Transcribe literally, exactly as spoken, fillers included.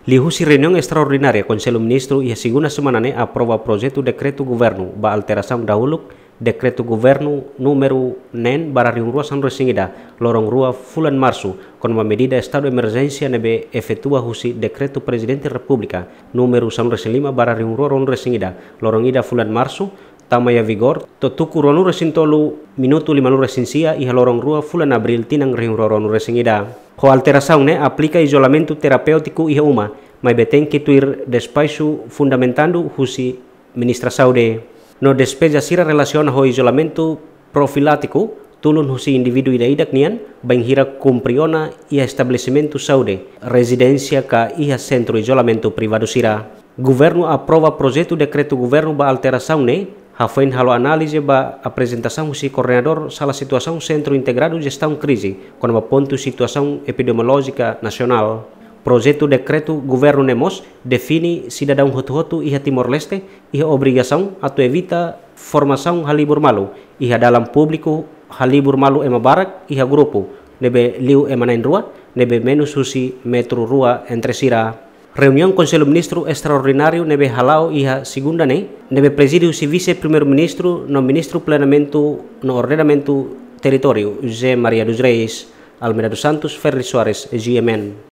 Liuhusi reuniaun estraordinária Konsellu Ministru iha segunda semana ne'e aprova projetu dekretu governu ba alterasaun dahuluk dekretu governu númeru neen barra rihun rua sanulu resin ida, loron rua fulan Marsu, kona-ba medida estadu emerjénsia ne'ebé efetua husi dekretu Prezidente Repúblika númeru sanulu resin lima barra rihun rua ruanulu resin ida, loron ida fulan Marsu, tama iha vigór to'o tuku ruanulu resin tolu minutu limanulu resin sia iha loron rua fulan Abríl tinan rihun rua ruanulu resin ida. Ho alterasaun ne'e aplika izolamentu terapéutiku iha uma, maibé tenke tuir despaxu fundamentandu husi Ministra Saúde. No despeza sira relasiona ho izolamentu profilátiku, tulun husi indivíduu ida-idak nian, bainhira kumpre ona iha estabelesimentu saúde, rezidénsia ka iha sentru izolamentu privadu sira. Governu aprova projetu dekretu governu ba alterasaun ne'e, hafoin halo análize ba aprezentasaun husi koordenadór Sala Situasaun Sentru Integradu Jestaun Krize, kona-ba pontu situasaun epidemiolójika nasionál. Projetu dekretu governu ne'e mós define sidadaun hotu-hotu iha Timor-Leste iha obrigasaun atu evita formasaun halibur malu iha dalan públiku, halibur malu ema barak iha grupu ne'ebé liu ema na'in-rua, ne'ebé menus husi metru rua entre sira. Reuniaun Konsellu Ministru estraordináriu ne'ebé hala'o iha segunda ne'e, ne'ebé prezide husi Vise-Primeiru-Ministru no Ministru Planeamentu no Ordenamentu Territóriu, José Maria dos Reis, Almeida dos Santos, Ferri Soares, G M N.